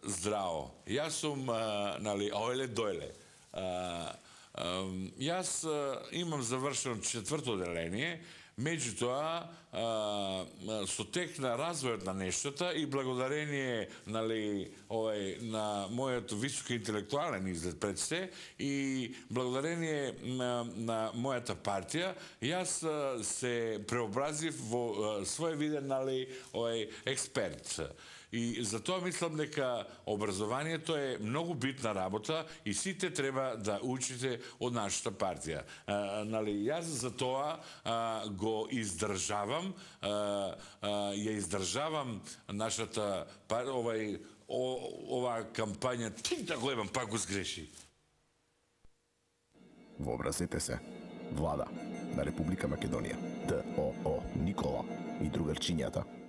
здраво. Јас сум, нали, ојле дојле. Јас имам завршено 4-то оделение, меѓутоа со тек на развојот на нештата и благодарение, нали, на мојот високи интелектуален изглед пред се и благодарение на мојата партија, јас се преобразив во своевиден, нали, експерт. И затоа мислам дека образованието е многу битна работа и сите треба да учите од нашата партија. Нали, јас за тоа го издржавам, ја издржавам нашата оваа кампања, да го ебам, пак го сгреши. Вообразете се, влада на Република Македонија, ДОО Никола и другарчињата